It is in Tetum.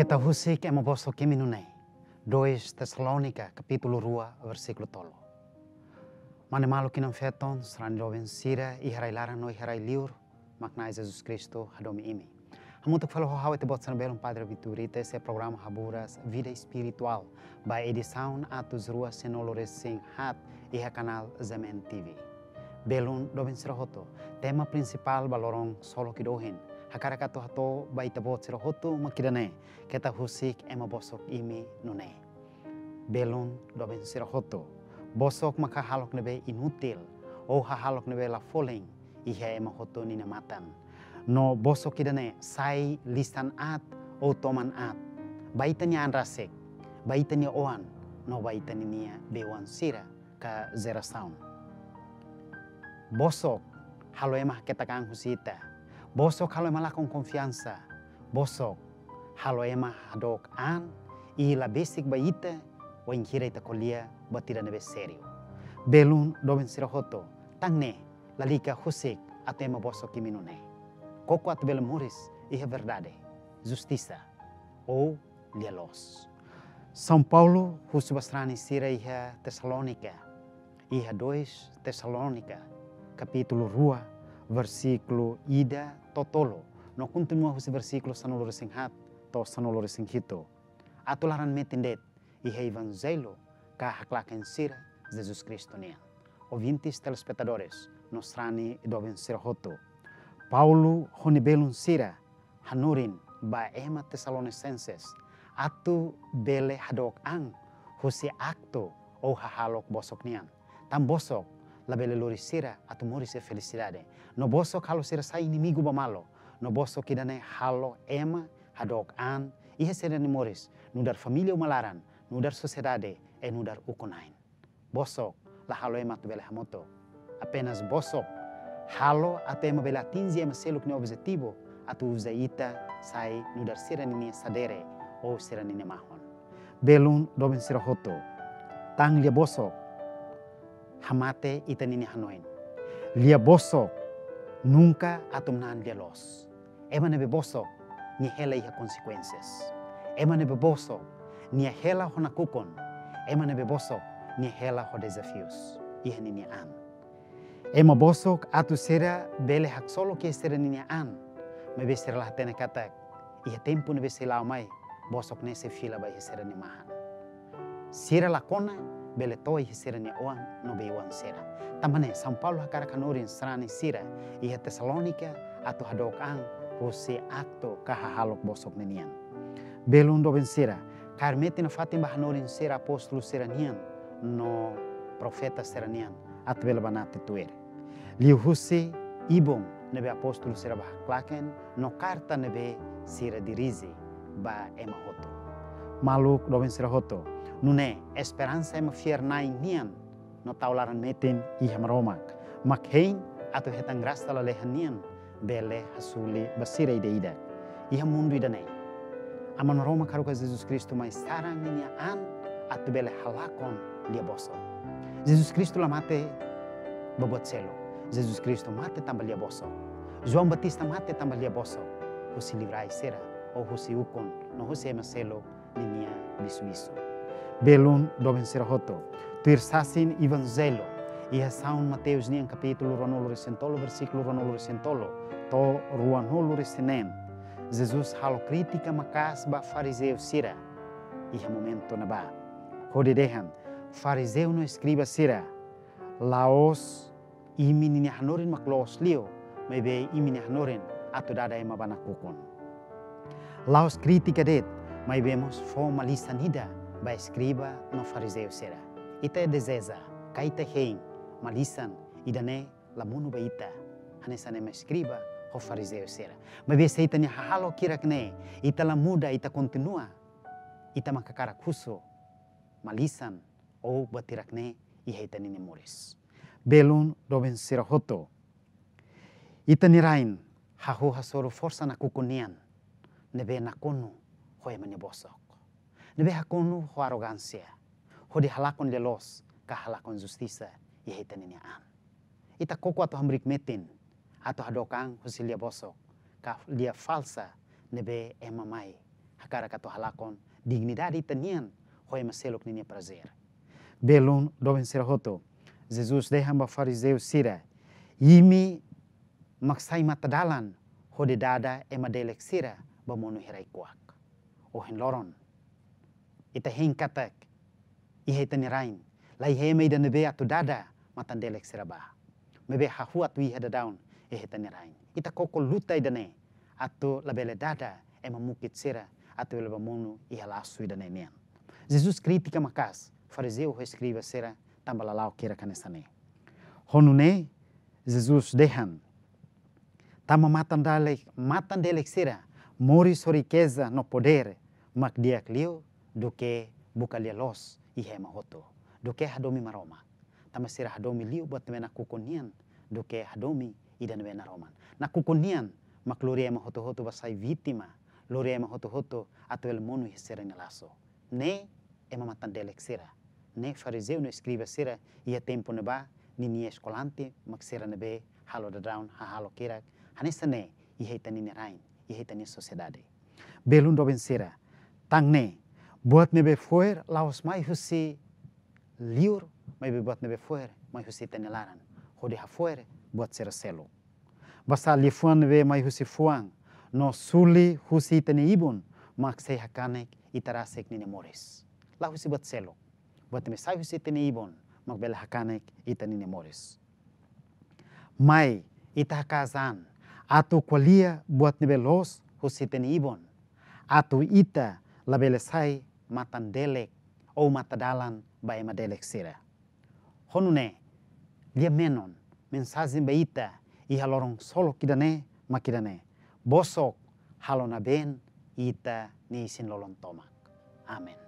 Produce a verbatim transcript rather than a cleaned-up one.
Ita husik ema bosok imi nune'e. Dois Tesalónika, kapítulu rua, versíkulu tolu. Mane maluk kinan feton, sarani doben sira, iha rai-laran no iha rai-liur, mak Na'i Jesus Kristu hadomi imi. Hamutuk fali ho ha'u ita-boot sira-nia belun Padre Vitor Brito, esse programa Haburas Vida Espiritual, ba edisaun atus rua sanulu-resin-haat, iha kanál Zemen T V. Belun doben sira hotu, tema prinsipál ba loron solok ida ohin, hakarak atu hato'o ba ita-boot sira hotu mak ida-ne'e, keta husik ema bosok imi nune'e. Belun doben sira hotu, bosok mak hahalok ne'ebé inútil, ou hahalok ne'ebé la folin, iha ema hotu ninia matan. No bosok ida-ne'e sai lisan aat ou toman aat ba ita-nia an rasik, ba ita-nia oan, no ba ita-nia bei-oan sira ka jerasaun. Bosok halo ema haketak an husi ita. Bosok halo ema lakon konfiansa. Bosok halo ema hadook an i la besik ba ita, wainhira ita ko'alia buat ida ne'ebé sériu. Belun doben sira hotu, tan ne'e lalika husik atu ema bosok imi nune'e. Koko atu bele moris iha verdade, justisa, ou lia-loos. São Paulo husu ba sarani sira iha Tesalónika, iha dois Tesalónika, kapítulu rua, versíkulu ida to'o tolu, no kontinua husi versíkulu sanulu-resin-haat to'o sanulu-resin-hitu. Atu laran metin de'it iha Evanjellu ka haklaken sira Jesus Kristu nian. Ouvintes, telespetadores, no sarani doben sira hotu, Paulo ho nia belun sira hanorin ba ema Tesalonisenses atu bele hadook an husi aktu ou hahalok bosok nian. Tan bosok labele lori sira atu moris iha felisidade. No bosok halo sira sai inimigu ba malu. No bosok ida-ne'e halo ema hadook an iha sira-nia moris, nu'udar família uma laran, nu'udar sosiedade, i nu'udar ukun-na'in. Bosok la halo ema atu bele hamutuk. Apenas bosok halo atu ema bele atinje ema seluk nia objetivu atu uza ita sai nu'udar sira ninia sadere ou sira ninia mahon. Belun doben sira hotu, tan lia-bosok hamate ita ninia hanoin. Lia-bosok nunka atu manán lia-loos. Ema ne'ebé bosok, nia hela iha konsekuénsias. Ema ne'ebé bosok, nia hela ho nakukun. Ema ne'ebé bosok, nia hela ho dezafius iha ninia an. Ema bosok atu sira bele haksolok iha sira ninia an, maibé sira la hatene katak iha tempu ne'ebé sei la'o mai, bosok ne'e sei fila ba iha sira-nia mahan. Sira la kona bele to'o iha sira-nia oan no bei-oan sira. Tanba ne'e, São Paulo hakarak hanorin sarani sira iha Tesalónika atu hadook an husi aktu ka hahalok bosok ninian. Belun doben sira, kaer metin nafatin ba hanorin sira apóstolu sira-nian no profeta sira-nian atu bele banati tuir. Liuhusi ibun ne'ebé apóstolu sira bá haklaken no karta ne'ebé sira dirije ba ema hotu. Maluk doben sira hotu, nune'e esperansa ema fiar-na'in nian no tau laran metin iha Maromak, mak hein atu hetan grasa lalehan nian bele hasuli ba sira ida-idak iha mundu ida-ne'e. Aman Maromak haruka Jesus Kristu mai saran ninia an atu bele halakon lia-bosok. Jesus Kristu la mate ba buat seluk. Jesus Kristu mate tanba lia-bosok. João Batista mate tanba lia-bosok, husi liurai sira, ou husi ukun, no husi ema seluk ninia bisu-bisu. Belun doben sira hotu, tuir sasin Evanjellu iha São Mateus nian kapítulu ruanulu-resin-tolu, versíkulu ruanulu-resin-tolu to'o ruanulu-resin-neen, Jesus halo krítika maka'as ba farizeu sira iha momentu ne'ebá, hodi dehan: Farizeu no eskriba sira, la'ós imi ninia hanorin mak loos liu, maibé imi-nia hanorin atu dada ema ba nakukun. La'ós krítika de'it, maibé mós fó malisan ida ba eskriba no farizeu sira. Ita dezeja ka ita hein malisan ida-ne'e la monu ba ita, hanesan ema eskriba ho farizeu sira. Maibé se ita-nia hahalok hirak ne'e ita la muda, ita kontinua, ita mak hakarak husu malisan ou buat hirak ne'e iha ita ninia moris. Belun doben sira hotu, ita-nia rain hahú hasoru forsa nakukun nian, ne'ebé nakonu ho ema nia bosok, ne'ebé nakonu ho arrogánsia, hodi halakon lia-loos ka halakon justisa iha ita ninia an. Ita koko atu hamriik metin atu hadook an husi lia-bosok ka lia falsa ne'ebé ema mai hakarak atu halakon dignidade ita-nian ho ema seluk ninia prazer. Belun doben sira hotu, Jesus dehan ba farizeu sira: Imi mak sai matadalan hodi dada ema delek sira ba monu hirak-kuak. Ohin loron ita hein katak iha ita-nia rain la iha ema ida ne'ebé atu dada matan-delek sira ba. Maibé hahú atu iha daudaun iha ita-nia rain. Ita koko luta ida-ne'e atu labele dada ema mukit sira atu bele ba monu iha lasu ida-ne'e nian. Jesus kritika maka'as farizeu ho eskriba sira tanba lala'ok hirak hanesan ne'e. Ho nune'e Jesus dehan: Tanba matan-delek, matan-delek sira moris ho rikeza no podér mak di'ak liu duké buka lia-loos iha ema hotu, duké hadomi Maromak. Tanba sira hadomi liu buat ne'ebé nakukun nian duké hadomi ida ne'ebé naroman. Nakukun nian mak lori ema hotu-hotu ba sai vítima, lori ema hotu-hotu atu bele monu iha sira-nia lasu. Ne'e ema matan-delek sira, ne'e farizeu no eskriba sira iha tempu ne'ebá ninia eskolante mak sira ne'ebé halo daudaun, hahalok hirak hanesan ne'e iha ita-nia rain, iha ita-nia sosiedade. Belun doben sira, tan ne'e buat ne'ebé fo'er la'ós mai husi liur, maibé buat ne'ebé fo'er mai husi ita-nia laran hodi hafo'er buat sira seluk. Basá liafuan ne'ebé mai husi fuan no suli husi ita-nia ibun mak sei hakanek ita rasik ninia moris. La husi buat seluk. Buat ne'ebé sai husi ita-nia ibun mak bele hakanek ita ninia moris. Mai ita haka'as an atu ko'alia buat ne'ebé loos husi ita-nia ibun, atu ita labele sai matan-delek ou matadalan ba ema-delek sira. Ho nune'e, lia-menon, mensajen ba ita iha loron ksolok ida-ne'e mak ida-ne'e: Bosok halo nabeen ita-nia isin-lolon tomak. Amen.